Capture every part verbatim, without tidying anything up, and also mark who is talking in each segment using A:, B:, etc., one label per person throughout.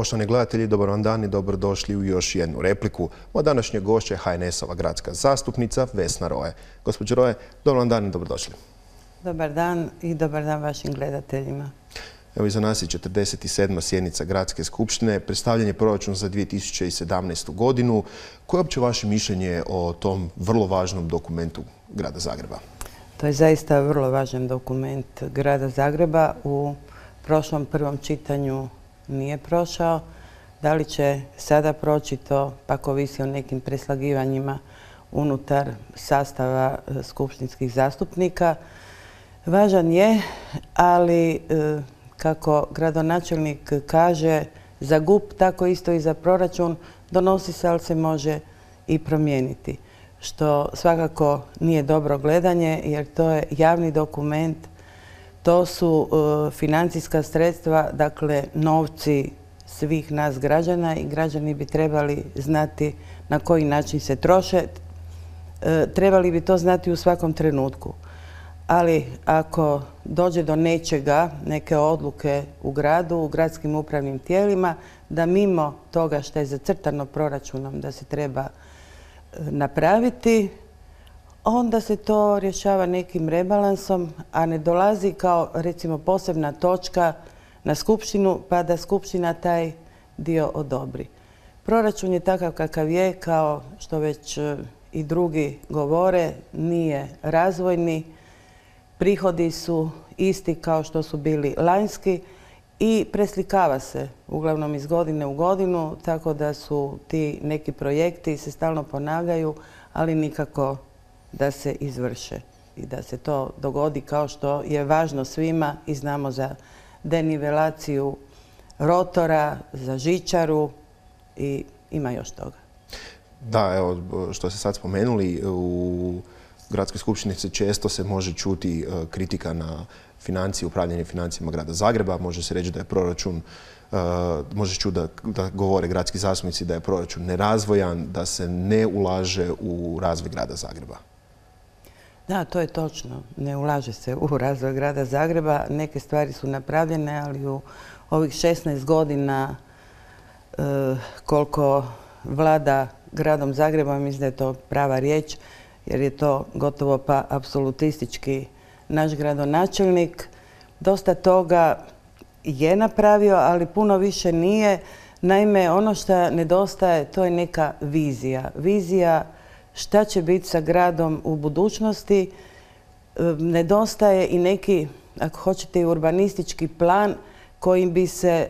A: Poštovani gledatelji, dobar vam dan i dobrodošli u još jednu repliku. Moja današnja gošća je H N S-ova gradska zastupnica Vesna Roje. Gospođo Roje, dobar vam dan i dobrodošli.
B: Dobar dan i dobar dan vašim gledateljima.
A: Evo, iza nas je četrdeset sedma sjednica Gradske skupštine, predstavljanje proračuna za dvije tisuće sedamnaestu. godinu. Koje je uopće vaše mišljenje o tom vrlo važnom dokumentu Grada Zagreba?
B: To je zaista vrlo važan dokument Grada Zagreba. U prošlom prvom čitanju nije prošao. Da li će sada proći, to pak ovisi o nekim preslagivanjima unutar sastava skupštinskih zastupnika. Važan je, ali kako gradonačelnik kaže za G U P, tako isto i za proračun, donosi se, ali se može i promijeniti. Što svakako nije dobro gledanje, jer to je javni dokument, to su financijska sredstva, dakle novci svih nas građana i građani bi trebali znati na koji način se troše. Trebali bi to znati u svakom trenutku. Ali ako dođe do nečega, neke odluke u gradu, u gradskim upravnim tijelima, da mimo toga što je zacrtano proračunom da se treba napraviti, onda se to rješava nekim rebalansom, a ne dolazi kao recimo posebna točka na skupštinu pa da skupština taj dio odobri. Proračun je takav kakav je, kao što već i drugi govore, nije razvojni. Prihodi su isti kao što su bili lanjski i preslikava se uglavnom iz godine u godinu, tako da su ti neki projekti se stalno ponavljaju, ali nikako da se izvrše i da se to dogodi kao što je važno svima i znamo za denivelaciju rotora, za žičaru i ima još toga.
A: Da, evo, što ste sad spomenuli, u Gradskoj skupštini se često se može čuti kritika na financije, upravljanje financijama Grada Zagreba. Može se reći da je proračun, može čuti da, da govore gradski zastupnici da je proračun nerazvojan, da se ne ulaže u razvoj Grada Zagreba.
B: Da, to je točno. Ne ulaže se u razvoj Grada Zagreba. Neke stvari su napravljene, ali u ovih šesnaest godina e, koliko vlada Gradom Zagrebom, mislim da je to prava riječ, jer je to gotovo pa apsolutistički naš gradonačelnik. Dosta toga je napravio, ali puno više nije. Naime, ono što nedostaje, to je neka vizija. Vizija šta će biti sa gradom u budućnosti. Nedostaje i neki, ako hoćete, i urbanistički plan kojim bi se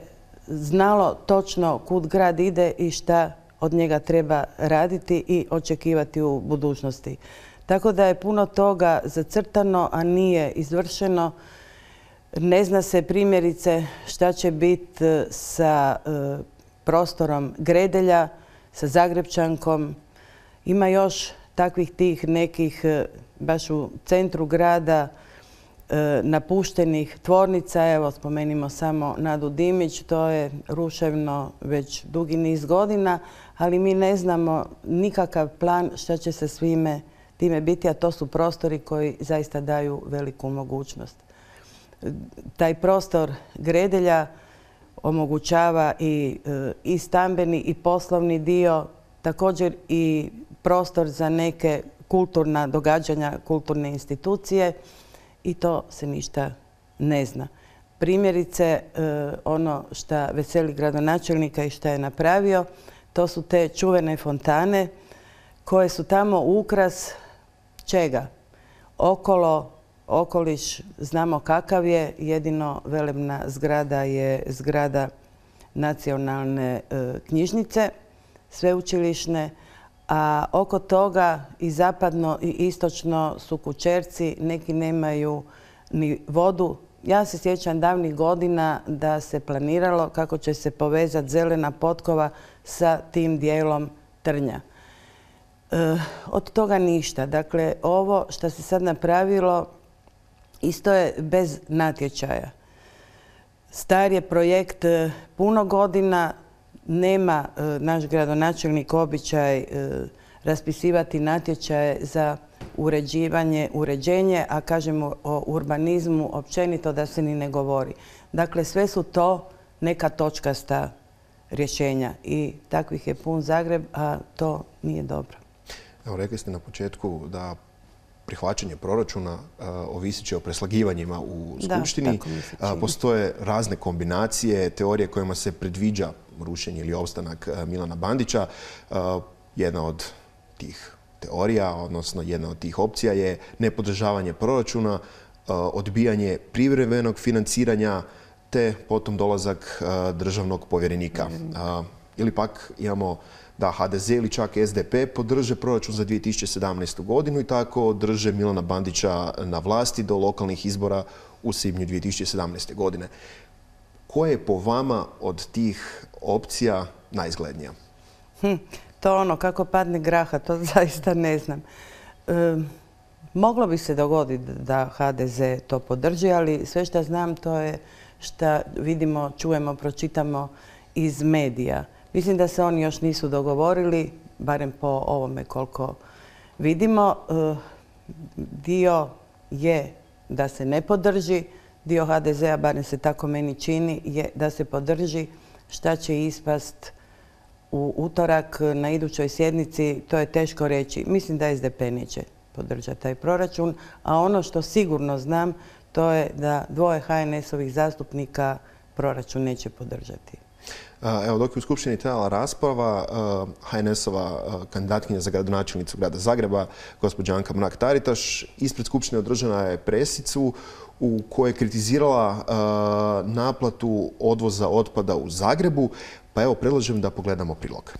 B: znalo točno kud grad ide i šta od njega treba raditi i očekivati u budućnosti. Tako da je puno toga zacrtano, a nije izvršeno. Ne zna se primjerice šta će biti sa prostorom Gredelja, sa Zagrepčankom. Ima još takvih tih nekih, baš u centru grada, napuštenih tvornica. Evo, spomenimo samo Nadu Dimić, to je ruševno već dugi niz godina, ali mi ne znamo nikakav plan šta će se svime time biti, a to su prostori koji zaista daju veliku mogućnost. Taj prostor Gredelja omogućava i, i stambeni i poslovni dio, također i prostor za neke kulturna događanja, kulturne institucije, i to se ništa ne zna. Primjerice, ono što veseli gradonačelnika i što je napravio, to su te čuvene fontane koje su tamo ukras čega? Okolo, okoliš znamo kakav je, jedino velebna zgrada je zgrada Nacionalne knjižnice sveučilišne, a oko toga i zapadno i istočno su kućerci, neki nemaju ni vodu. Ja se sjećam davnih godina da se planiralo kako će se povezati zelena potkova sa tim dijelom Trnja. E, od toga ništa. Dakle, ovo što se sad napravilo isto je bez natječaja. Star je projekt puno godina, nema e, naš gradonačelnik običaj e, raspisivati natječaje za uređivanje, uređenje, a kažemo o urbanizmu općenito da se ni ne govori. Dakle, sve su to neka točkasta rješenja. I takvih je pun Zagreb, a to nije dobro.
A: Evo, rekli ste na početku da prihvaćanje proračuna uh, ovisit će o preslagivanjima u Skupštini. Da, postoje razne kombinacije, teorije kojima se predviđa rušenje ili opstanak uh, Milana Bandića. Uh, jedna od tih teorija, odnosno jedna od tih opcija je nepodržavanje proračuna, uh, odbijanje privremenog financiranja te potom dolazak uh, državnog povjerenika. Uh, ili pak imamo da ha de ze ili čak es de pe podrže proračun za dvije tisuće sedamnaestu. godinu i tako drže Milana Bandića na vlasti do lokalnih izbora u svibnju dvije tisuće sedamnaeste. godine. Koja je po vama od tih opcija najizglednija?
B: Hm, to ono, kako padne graha, to zaista ne znam. E, moglo bi se dogoditi da ha de ze to podrži, ali sve što znam to je što vidimo, čujemo, pročitamo iz medija. Mislim da se oni još nisu dogovorili, barem po ovome koliko vidimo. Dio je da se ne podrži, dio ha de zea, barem se tako meni čini, je da se podrži. Šta će ispast u utorak na idućoj sjednici, to je teško reći. Mislim da es de pe neće podržati taj proračun, a ono što sigurno znam, to je da dvoje ha en esovih zastupnika proračun neće podržati.
A: Evo, dok je u Skupštini trajala rasprava, ha en esova kandidatkinja za gradonačelnicu grada Zagreba, gospođa Anka Mrak-Taritaš, ispred Skupštine održana je presicu u kojoj je kritizirala naplatu odvoza otpada u Zagrebu. Pa evo, predlažem da pogledamo prilog.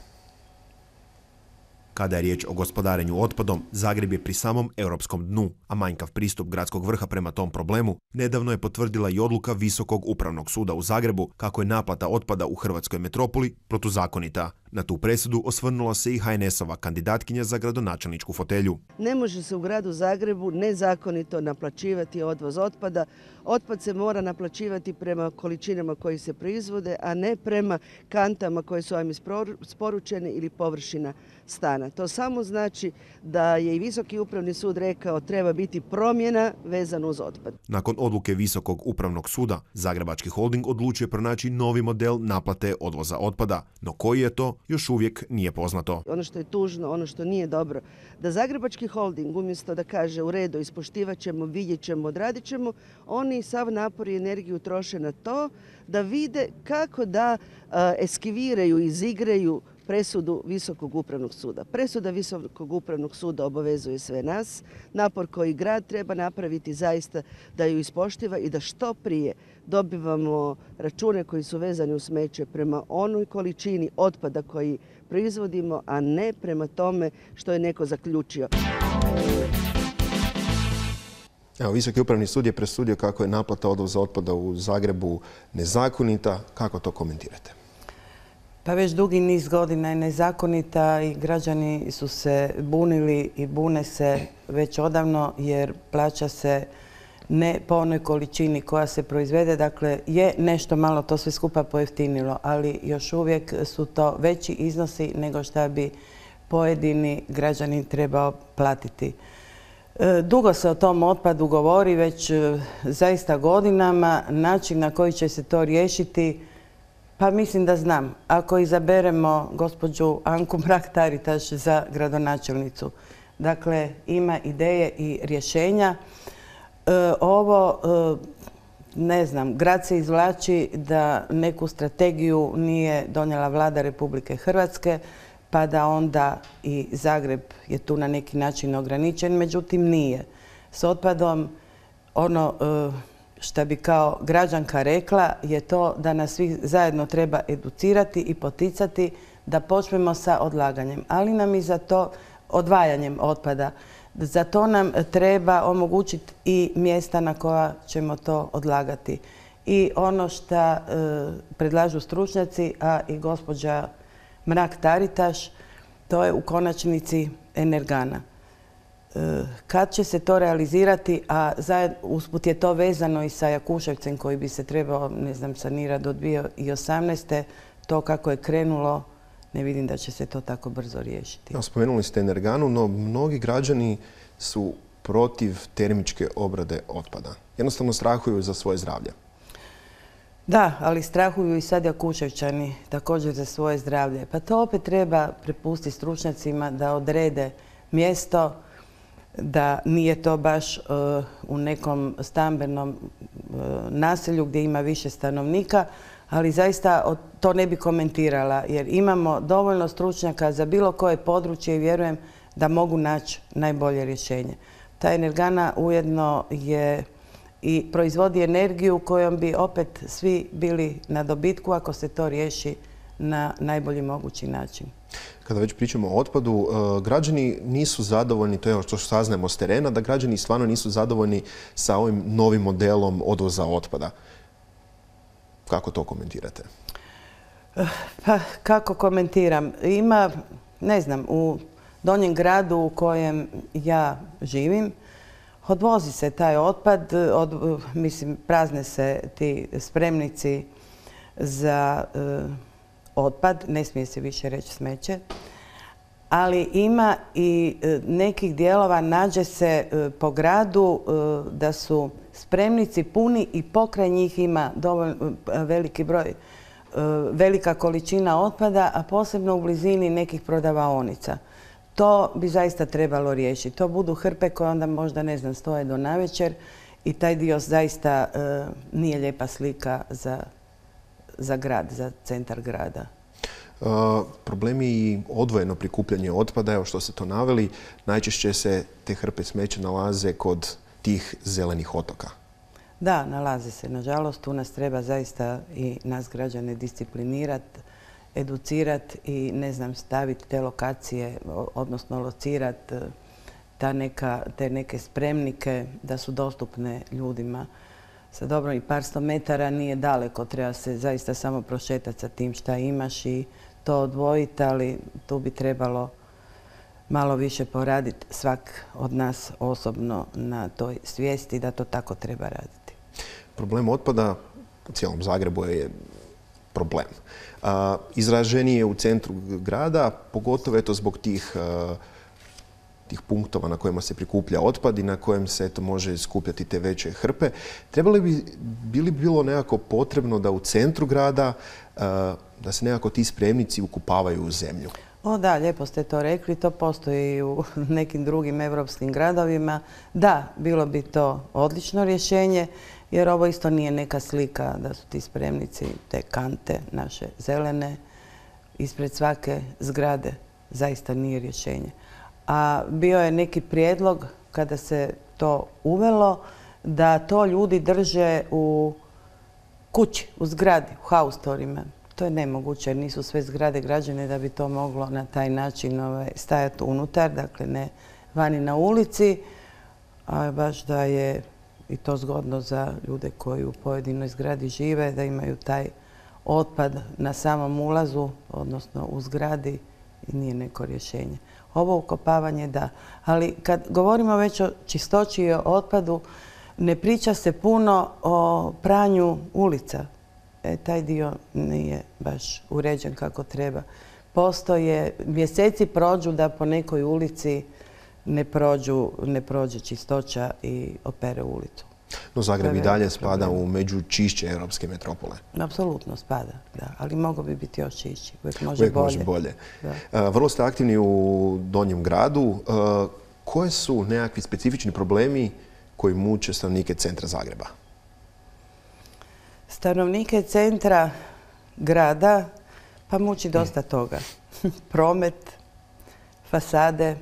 C: Kada je riječ o gospodarenju otpadom, Zagreb je pri samom europskom dnu, a manjkav pristup gradskog vrha prema tom problemu nedavno je potvrdila i odluka Visokog upravnog suda u Zagrebu kako je naplata otpada u hrvatskoj metropoli protuzakonita. Na tu presudu osvrnula se i ha en esova kandidatkinja za gradonačelničku fotelju.
D: Ne može se u gradu Zagrebu nezakonito naplaćivati odvoz otpada. Otpad se mora naplaćivati prema količinama koji se proizvode, a ne prema kantama koje su vam isporučene ili površina stana. To samo znači da je i Visoki upravni sud rekao treba biti promjena vezana uz otpad.
C: Nakon odluke Visokog upravnog suda, Zagrebački holding odlučio pronaći novi model naplate odvoza otpada, no koji je to još uvijek nije poznato.
D: Ono što je tužno, ono što nije dobro, da Zagrebački holding umjesto da kaže u redu, ispoštivat ćemo, vidjet ćemo, odradit ćemo, oni sav napor i energiju troše na to da vide kako da uh, eskiviraju, izigraju presudu Visokog upravnog suda. Presuda Visokog upravnog suda obavezuje sve nas. Napor koji grad treba napraviti zaista da ju ispoštiva i da što prije dobivamo račune koji su vezani u smeće prema onoj količini otpada koji proizvodimo, a ne prema tome što je neko zaključio.
A: Evo, Visoki upravni sud je presudio kako je naplata odvoza otpada u Zagrebu nezakonita. Kako to komentirate?
B: Pa već dugi niz godina je nezakonita i građani su se bunili i bune se već odavno jer plaća se ne po onoj količini koja se proizvede. Dakle, je nešto malo to sve skupa pojeftinilo, ali još uvijek su to veći iznosi nego što bi pojedini građanin trebao platiti. Dugo se o tom otpadu govori, već zaista godinama. Način na koji će se to riješiti, pa mislim da znam. Ako izaberemo gospođu Anku Mrak-Taritaš za gradonačelnicu. Dakle, ima ideje i rješenja. E, ovo, e, ne znam, grad se izvlači da neku strategiju nije donijela Vlada Republike Hrvatske, pa da onda i Zagreb je tu na neki način ograničen, međutim nije. S otpadom ono što bi kao građanka rekla je to da nas svih zajedno treba educirati i poticati da počnemo sa odlaganjem, ali nam i za to odvajanjem otpada. Za to nam treba omogućiti i mjesta na koja ćemo to odlagati. I ono što predlažu stručnjaci, a i gospođa Mrak-Taritaš, to je u konačnici energana. Kad će se to realizirati, a usput je to vezano i sa Jakuševcem koji bi se trebao, ne znam, sanirati do dvije tisuće osamnaeste. To kako je krenulo, ne vidim da će se to tako brzo riješiti.
A: Spomenuli ste energanu, no mnogi građani su protiv termičke obrade otpada. Jednostavno strahuju za svoje zdravlje.
B: Da, ali strahuju i sad Jakuševčani također za svoje zdravlje. Pa to opet treba prepustiti stručnjacima da odrede mjesto, da nije to baš uh, u nekom stambenom uh, naselju gdje ima više stanovnika, ali zaista to ne bi komentirala jer imamo dovoljno stručnjaka za bilo koje područje i vjerujem da mogu naći najbolje rješenje. Ta energana ujedno je i proizvodi energiju kojom bi opet svi bili na dobitku ako se to riješi na najbolji mogući način.
A: Kada već pričamo o otpadu, građani nisu zadovoljni, to je ono što saznajemo s terena, da građani stvarno nisu zadovoljni sa ovim novim modelom odvoza otpada. Kako to komentirate?
B: Pa kako komentiram? Ima, ne znam, u Donjem gradu u kojem ja živim, odvozi se taj otpad, od, mislim, prazne se ti spremnici za e, otpad, ne smije se više reći smeće, ali ima i e, nekih dijelova, nađe se e, po gradu e, da su spremnici puni i pokraj njih ima dovoljno e, veliki broj, e, velika količina otpada, a posebno u blizini nekih prodavaonica. To bi zaista trebalo riješiti. To budu hrpe koje onda možda, ne znam, stoje do navečer i taj dio zaista e, nije lijepa slika za, za grad, za centar grada.
A: Uh, problem je i odvojeno prikupljanje otpada, evo što ste to naveli. Najčešće se te hrpe smeća nalaze kod tih zelenih otoka.
B: Da, nalaze se. Nažalost, tu nas treba zaista i nas građane disciplinirati, educirati i, ne znam, staviti te lokacije, odnosno locirati ta neka, te neke spremnike da su dostupne ljudima. Sa dobro i par sto metara nije daleko, treba se zaista samo prošetati sa tim šta imaš i to odvojiti, ali tu bi trebalo malo više poraditi svak od nas osobno na toj svijesti da to tako treba raditi.
A: Problem otpada u cijelom Zagrebu je problem. Izraženiji je u centru grada, pogotovo eto zbog tih, tih punktova na kojima se prikuplja otpad i na kojem se eto može skupljati te veće hrpe. Trebali bi, bili bi bilo nekako potrebno da u centru grada da se nekako ti spremnici ukupavaju u zemlju?
B: O da, lijepo ste to rekli. To postoji i u nekim drugim evropskim gradovima. Da, bilo bi to odlično rješenje, jer ovo isto nije neka slika da su ti spremnici, te kante naše zelene, ispred svake zgrade. Zaista nije rješenje. A bio je neki prijedlog kada se to uvelo da to ljudi drže u kući, u zgradi, u haustorima. To je nemoguće jer nisu sve zgrade građene da bi to moglo na taj način ovaj, stajati unutar, dakle ne vani na ulici, a baš da je i to zgodno za ljude koji u pojedinoj zgradi žive, da imaju taj otpad na samom ulazu, odnosno u zgradi, i nije neko rješenje. Ovo ukopavanje da, ali kad govorimo već o čistoći i o otpadu, ne priča se puno o pranju ulica. E, taj dio nije baš uređen kako treba. Postoje, mjeseci prođu da po nekoj ulici ne, prođu, ne prođe čistoća i opere ulicu.
A: No Zagreb i dalje spada u među čišće europske metropole.
B: Apsolutno spada, da. Ali mogao bi biti još čišći. Uvijek može
A: Uvijek
B: bolje.
A: Može bolje. Vrlo ste aktivni u Donjem gradu. Koje su nekakvi specifični problemi koji muče stanovnike centra Zagreba?
B: Stanovnike centra grada pa muči dosta toga. Promet, fasade,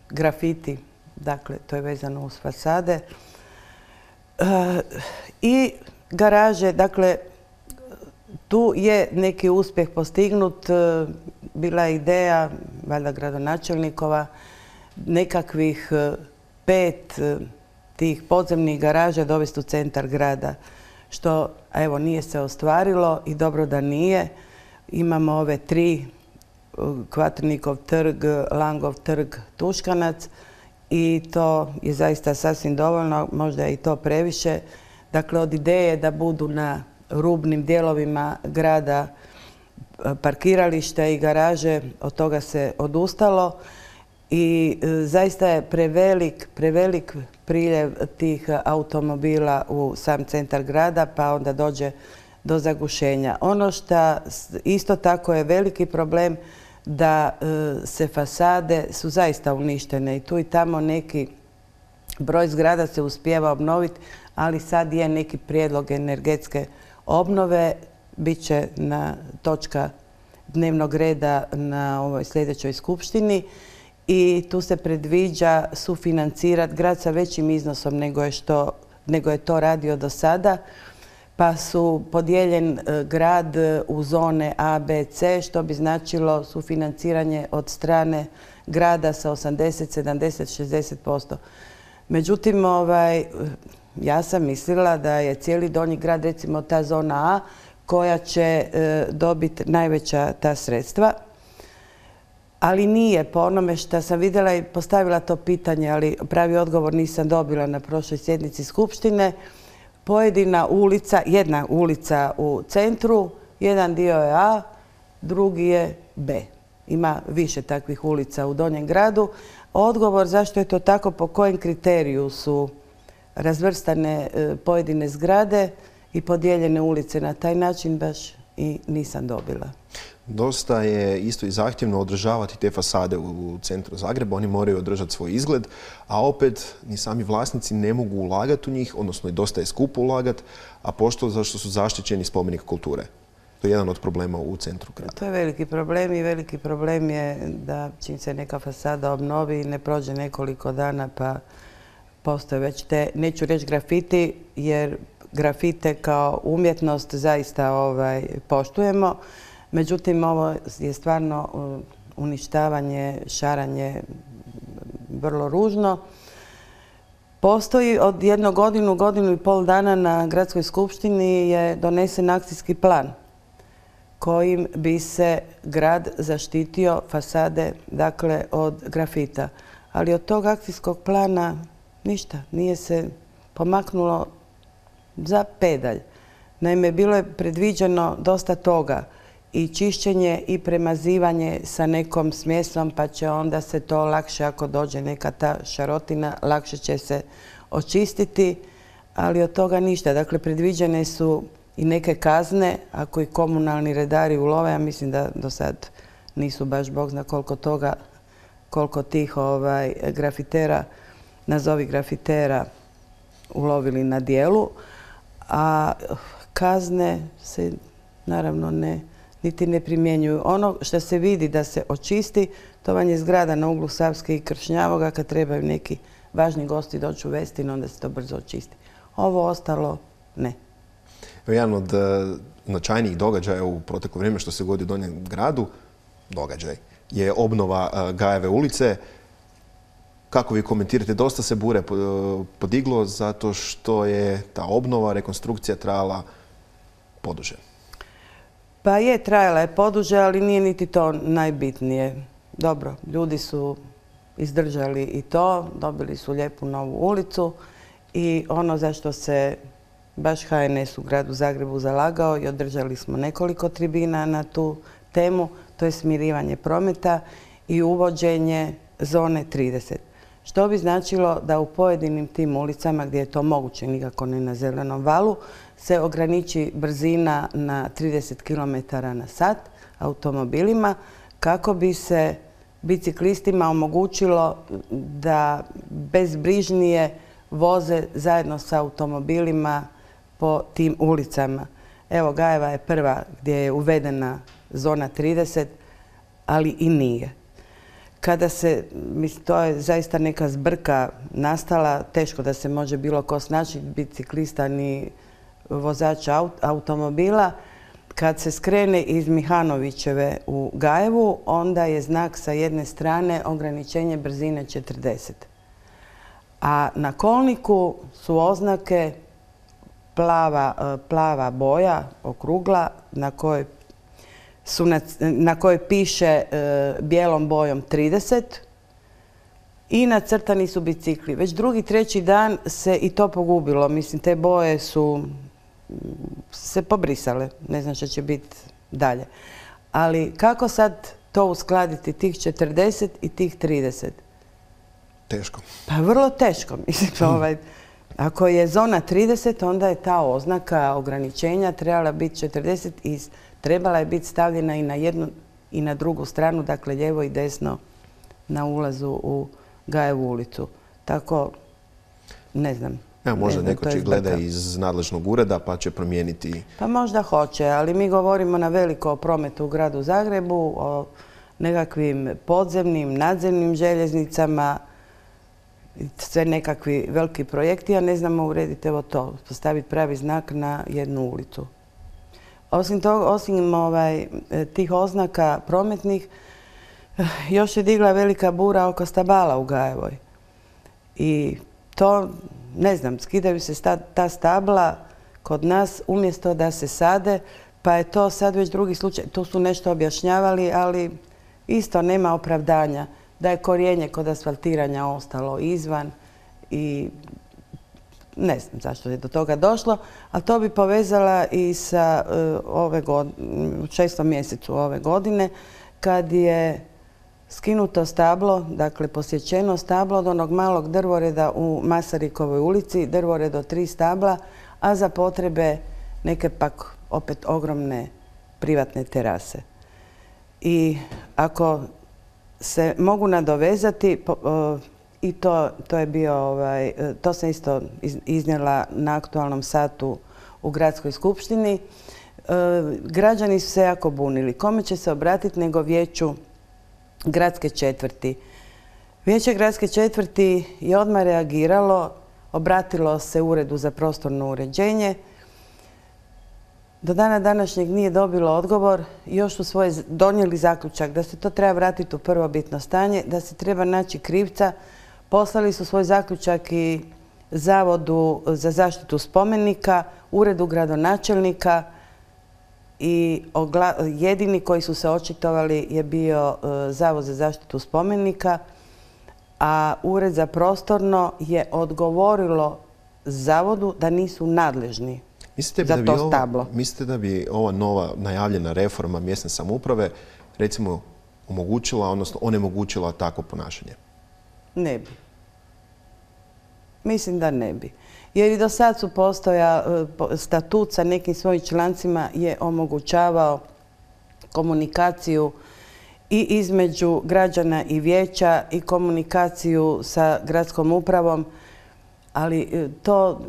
B: grafiti, dakle to je vezano uz fasade, i garaže. Dakle, tu je neki uspjeh postignut. Bila je ideja, valjda gradonačelnikova, nekakvih pet tih podzemnih garaža dovesti u centar grada, što evo nije se ostvarilo i dobro da nije. Imamo ove tri, Kvaternikov trg, Langov trg, Tuškanac, i to je zaista sasvim dovoljno, možda je i to previše. Dakle, od ideje da budu na rubnim dijelovima grada parkiralište i garaže, od toga se odustalo. i zaista je prevelik, prevelik priljev tih automobila u sam centar grada, pa onda dođe do zagušenja. Ono što isto tako je veliki problem, da se fasade su zaista uništene i tu i tamo neki broj zgrada se uspijeva obnoviti, ali sad je neki prijedlog energetske obnove, bit će na točka dnevnog reda na ovoj sljedećoj skupštini i tu se predviđa sufinancirati grad sa većim iznosom nego je, što, nego je to radio do sada, pa su podijeljen grad u zone A, B, C, što bi značilo sufinanciranje od strane grada sa osamdeset, sedamdeset, šezdeset posto. Međutim, ovaj, ja sam mislila da je cijeli Donji grad, recimo ta zona A, koja će e, dobiti najveća ta sredstva. Ali nije, po onome što sam vidjela i postavila to pitanje, ali pravi odgovor nisam dobila na prošloj sjednici Skupštine. Pojedina ulica, jedna ulica u centru, jedan dio je A, drugi je B. Ima više takvih ulica u Donjem gradu. Odgovor zašto je to tako, po kojem kriteriju su razvrstane pojedine zgrade i podijeljene ulice na taj način, baš i nisam dobila.
A: Dosta je isto i zahtjevno održavati te fasade u centru Zagreba. Oni moraju održati svoj izgled, a opet ni sami vlasnici ne mogu ulagati u njih, odnosno i dosta je skupo ulagati, a pošto zašto su zaštićeni spomenik kulture. To je jedan od problema u centru grada.
B: To je veliki problem i veliki problem je da čim se neka fasada obnovi ne prođe nekoliko dana pa postoje već te, neću reći grafiti, jer grafite kao umjetnost zaista ovaj, poštujemo. Međutim, ovo je stvarno uništavanje, šaranje vrlo ružno. Postoji od jednu godinu, godinu i pol dana na Gradskoj skupštini je donesen akcijski plan kojim bi se grad zaštitio fasade, dakle, od grafita. Ali od tog akcijskog plana ništa, nije se pomaknulo za pedalj. Naime, bilo je predviđeno dosta toga, i čišćenje i premazivanje sa nekom smjesom, pa će onda se to lakše, ako dođe neka ta šarotina, lakše će se očistiti, ali od toga ništa. Dakle, predviđene su i neke kazne, ako i komunalni redari ulove, ja mislim da do sad nisu baš bog zna koliko toga, koliko tih ovaj, grafitera, nazovi grafitera, ulovili na dijelu, a kazne se naravno ne niti ne primjenjuju. Ono što se vidi da se očisti, to vam je zgrada na uglu Savske i Kršnjavoga, kad trebaju neki važni gosti doći u Westin, onda se to brzo očisti. Ovo ostalo ne.
A: Jedan od značajnijih događaja u proteklo vrijeme što se godi u Donjem gradu, događaj, je obnova Gajeve ulice. Kako vi komentirate? Dosta se bure podiglo zato što je ta obnova, rekonstrukcija trajala poduže.
B: Pa je, trajala je poduže, ali nije niti to najbitnije. Dobro, ljudi su izdržali i to, dobili su lijepu novu ulicu i ono za što se baš H N S u gradu Zagrebu zalagao i održali smo nekoliko tribina na tu temu, to je smirivanje prometa i uvođenje zone trideset. Što bi značilo da u pojedinim tim ulicama, gdje je to moguće, nikako ne na Zelenom valu, se ograniči brzina na trideset kilometara na sat automobilima, kako bi se biciklistima omogućilo da bezbrižnije voze zajedno sa automobilima po tim ulicama. Evo, Gajeva je prva gdje je uvedena zona trideset, ali i nije. Kada se, mislim, to je zaista neka zbrka nastala, teško da se može bilo ko snaći, biciklista ni vozača automobila. Kad se skrene iz Mihanovićeve u Gajevu, onda je znak sa jedne strane ograničenje brzine četrdeset. A na kolniku su oznake plava, plava boja, okrugla, na kojoj su na, na kojoj piše e, bijelom bojom trideset i nacrtani su bicikli. Već drugi, treći dan se i to pogubilo. Mislim, te boje su se pobrisale. Ne znam što će biti dalje. Ali kako sad to uskladiti, tih četrdeset i tih trideset?
A: Teško.
B: Pa vrlo teško. Mislim, ovaj, ako je zona trideset, onda je ta oznaka ograničenja trebala biti četrdeset i trebala je biti stavljena i na jednu i na drugu stranu, dakle lijevo i desno na ulazu u Gajevu ulicu. Tako, ne znam.
A: Evo, možda neko će gleda iz nadležnog ureda pa će promijeniti...
B: Pa možda hoće, ali mi govorimo na veliko o prometu u gradu Zagrebu, o nekakvim podzemnim, nadzemnim željeznicama, sve nekakvi veliki projekti, a ne znamo urediti evo to, postaviti pravi znak na jednu ulicu. Osim toga, osim ovaj, tih oznaka prometnih, još je digla velika bura oko stabala u Gajevoj. I to, ne znam, skidaju se sta, ta stabla kod nas umjesto da se sade, pa je to sad već drugi slučaj. Tu su nešto objašnjavali, ali isto nema opravdanja da je korijenje kod asfaltiranja ostalo izvan i ne znam zašto je do toga došlo, ali to bi povezala i sa uh, ove godine, u šestom mjesecu ove godine, kad je skinuto stablo, dakle posjećeno stablo od onog malog drvoreda u Masarikovoj ulici, drvored od tri stabla, a za potrebe neke pak opet ogromne privatne terase. I ako se mogu nadovezati, uh, i to, to je bio, ovaj, to sam isto iznijela na aktualnom satu u Gradskoj skupštini. E, građani su se jako bunili. Kome će se obratiti nego vijeću gradske četvrti? Vijeće gradske četvrti je odmah reagiralo, obratilo se Uredu za prostorno uređenje. Do dana današnjeg nije dobilo odgovor. Još su svoje donijeli zaključak da se to treba vratiti u prvobitno stanje, da se treba naći krivca. Poslali su svoj zaključak i Zavodu za zaštitu spomenika, Uredu gradonačelnika i jedini koji su se očitovali je bio Zavod za zaštitu spomenika, a Ured za prostorno je odgovorilo Zavodu da nisu nadležni za to stablo.
A: Mislite da bi ova nova najavljena reforma mjesne samouprave recimo omogućila, odnosno onemogućila takvo ponašanje?
B: Ne bi. Mislim da ne bi. Jer i do sad su postoja, statut sa nekim svojim člancima je omogućavao komunikaciju i između građana i vijeća i komunikaciju sa gradskom upravom, ali to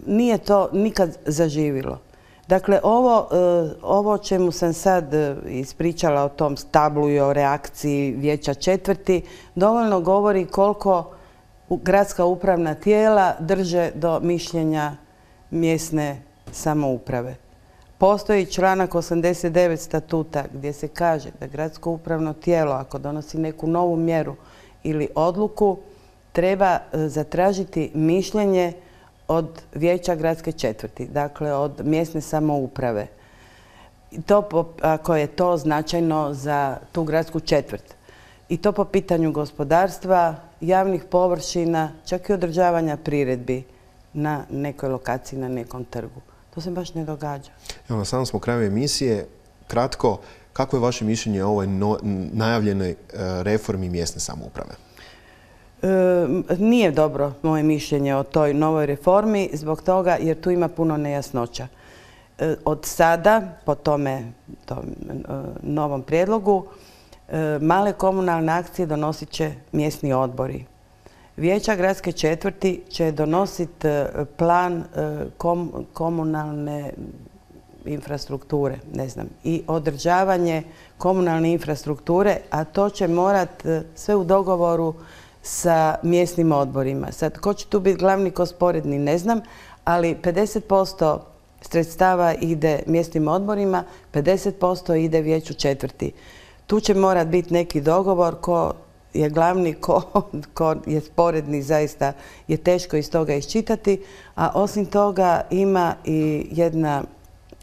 B: nije to nikad zaživilo. Dakle, ovo, ovo čemu sam sad ispričala o tom stablu i o reakciji vijeća četvrti, dovoljno govori koliko gradska upravna tijela drže do mišljenja mjesne samouprave. Postoji članak osamdeset devet statuta gdje se kaže da gradsko upravno tijelo, ako donosi neku novu mjeru ili odluku, treba zatražiti mišljenje od vijeća gradske četvrti, dakle od mjesne samouprave. To, ako je to značajno za tu gradsku četvrt. I to po pitanju gospodarstva, javnih površina, čak i održavanja priredbi na nekoj lokaciji, na nekom trgu. To se baš ne događa.
A: Evo, na samom smo kraju emisije. Kratko, kako je vaše mišljenje o ovoj no, najavljenoj reformi mjesne samouprave?
B: E, nije dobro moje mišljenje o toj novoj reformi zbog toga jer tu ima puno nejasnoća. E, od sada, po tome tom, e, novom prijedlogu, e, male komunalne akcije donosit će mjesni odbori. Vijeća gradske četvrti će donositi plan e, kom, komunalne infrastrukture, ne znam, i održavanje komunalne infrastrukture, a to će morat e, sve u dogovoru sa mjesnim odborima. Sad, ko će tu biti glavni, ko sporedni, ne znam, ali pedeset posto sredstava ide mjesnim odborima, pedeset posto ide vijeću četvrti. Tu će morat biti neki dogovor ko je glavni, ko, ko je sporedni, zaista je teško iz toga iščitati. A osim toga ima i jedna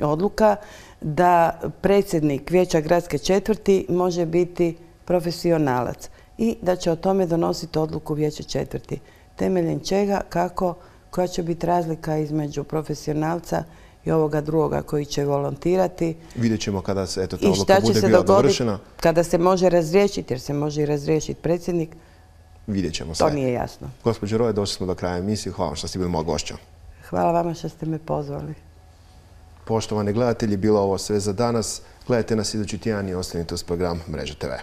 B: odluka da predsjednik vijeća gradske četvrti može biti profesionalac i da će o tome donositi odluku vijeće četvrti. Temeljem čega, kako, koja će biti razlika između profesionalca i ovoga drugoga koji će volontirati.
A: Vidjet ćemo kada se eto, ta
B: I
A: odluka
B: šta će
A: bude
B: se
A: bila
B: dogoditi
A: dovršena.
B: kada se može razriješiti, jer se može i razriješiti predsjednik.
A: Vidjet ćemo sve.
B: To nije jasno.
A: Gospođo Roje, došli smo do kraja emisije. Hvala vam što ste bili moja gošća.
B: Hvala vama što ste me pozvali.
A: Poštovani gledatelji, bilo ovo sve za danas. Gledajte nas idući tjedan i ostanite uz program Mreža te ve.